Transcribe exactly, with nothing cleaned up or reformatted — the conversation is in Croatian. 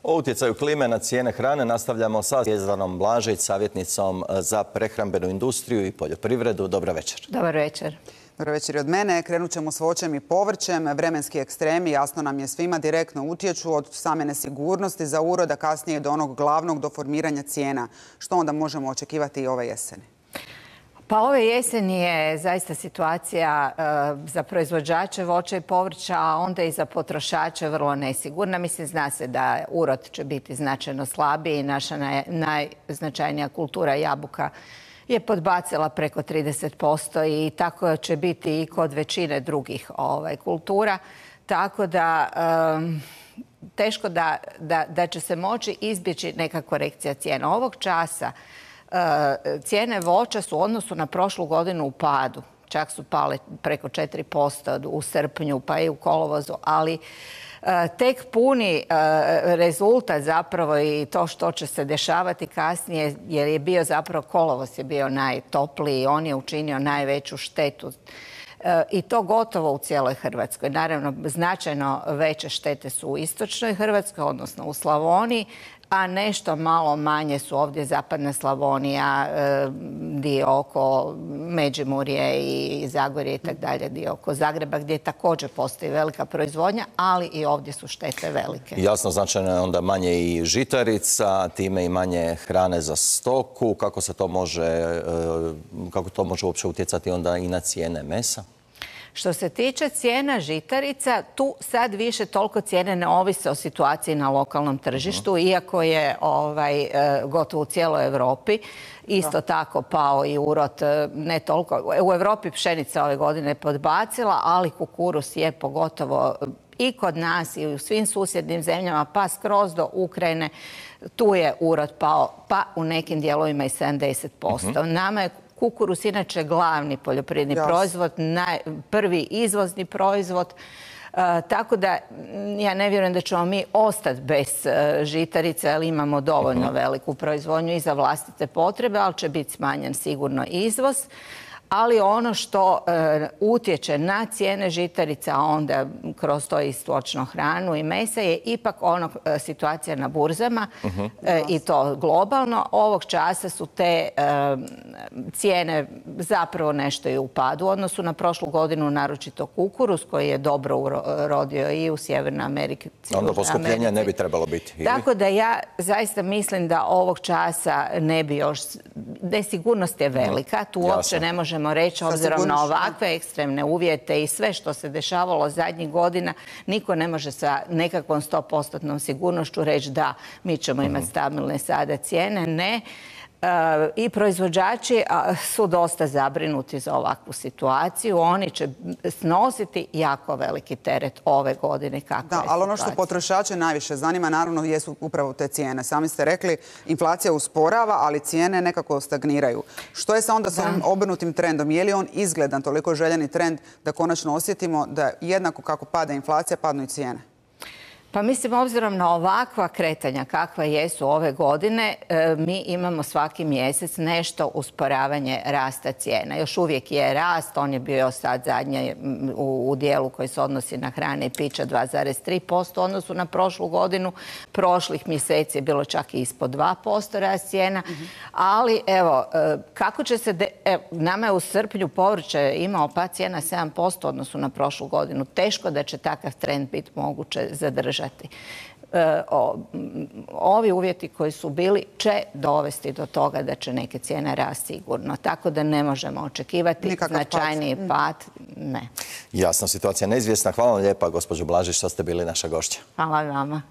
O utjecaju klime na cijene hrane nastavljamo sa Zvjezdanom Blažić, savjetnicom za prehrambenu industriju i poljoprivredu. Dobar večer. Dobar večer. Dobar večer i od mene. Krenut ćemo s voćem i povrćem. Vremenski ekstremi, jasno nam je svima, direktno utječu od same nesigurnosti za urod, a kasnije do onog glavnog, do formiranja cijena. Što onda možemo očekivati i ove jeseni? Pa ove jeseni je zaista situacija e, za proizvođače voća i povrća, a onda i za potrošače vrlo nesigurna. Mislim, zna se da urod će biti značajno slabiji. Naša naj, najznačajnija kultura jabuka je podbacila preko trideset posto i tako će biti i kod većine drugih ovaj, kultura. Tako da e, teško da, da, da će se moći izbjeći neka korekcija cijena. Ovog časa cijene voća su u odnosu na prošlu godinu u padu. Čak su pale preko četiri posto u srpnju pa i u kolovozu, ali tek puni rezultat zapravo i to što će se dešavati kasnije, jer je bio zapravo kolovoz je bio najtopliji i on je učinio najveću štetu. I to gotovo u cijeloj Hrvatskoj. Naravno, značajno veće štete su u istočnoj Hrvatskoj, odnosno u Slavoniji, a nešto malo manje su ovdje zapadna Slavonija, dio oko Međimurje i Zagorje i tako dalje, dio oko Zagreba gdje također postoji velika proizvodnja, ali i ovdje su štete velike. Jasno, značajno je onda manje i žitarica, time i manje hrane za stoku. Kako se to može, kako to može uopće utjecati onda i na cijene mesa? Što se tiče cijena žitarica, tu sad više toliko cijene ne ovise o situaciji na lokalnom tržištu, uh-huh. iako je ovaj, gotovo u cijeloj Europi. Isto da. tako pao i urod, ne toliko. U Europi pšenica ove godine podbacila, ali kukuruz je pogotovo i kod nas i u svim susjednim zemljama, pa skroz do Ukrajine, tu je urod pao, pa u nekim dijelovima i sedamdeset posto. Uh-huh. Nama je kukuruz inače glavni poljoprivredni yes. proizvod, naj, prvi izvozni proizvod. E, tako da ja ne vjerujem da ćemo mi ostati bez e, žitarice, ali imamo dovoljno uh-huh. veliku proizvodnju i za vlastite potrebe, ali će biti smanjen sigurno izvoz. Ali ono što e, utječe na cijene žitarica, a onda kroz to i stočnu hranu i mesa, je ipak ono e, situacija na burzama uh-huh. e, i to globalno. Ovog časa su te e, cijene zapravo nešto i u padu u odnosu na prošlu godinu, naročito kukuruz koji je dobro urodio i u Sjevernoj Americi. Onda poskupljenja ne bi trebalo biti. Ili? Tako da ja zaista mislim da ovog časa ne bi još... Nesigurnost je velika, tu uopće ne može možemo reći, obzirom na ovakve ekstremne uvjete i sve što se dešavalo zadnjih godina, niko ne može sa nekakvom sto posto sigurnošću reći da mi ćemo imati stabilne sada cijene. Ne. I proizvođači su dosta zabrinuti za ovakvu situaciju. Oni će snositi jako veliki teret ove godine. Da, ali ono što potrošače najviše zanima, naravno, jesu upravo te cijene. Sami ste rekli, inflacija usporava, ali cijene nekako stagniraju. Što je sa onda s ovim obrnutim trendom? Je li on izgledan, toliko željeni trend da konačno osjetimo da jednako kako pada inflacija, padnu i cijene? Pa mislim, obzirom na ovakva kretanja kakva jesu ove godine, mi imamo svaki mjesec nešto usporavanje rasta cijena. Još uvijek je rast, on je bio sad zadnje u, u dijelu koji se odnosi na hrane i pića dva zarez tri posto u odnosu na prošlu godinu. Prošlih mjeseci je bilo čak i ispod dva posto rast cijena. Mm-hmm. Ali evo, kako će se... De... Evo, nama je u srpnju povrće imao pad cijena sedam posto u odnosu na prošlu godinu. Teško da će takav trend biti moguće zadržati. E, o, ovi uvjeti koji su bili će dovesti do toga da će neke cijene rasti sigurno. Tako da ne možemo očekivati nikakav značajniji pad. pad. Ne. Jasna situacija neizvjesna. Hvala vam lijepa, gospođo Blažić, što ste bili naša gošća. Hvala vama.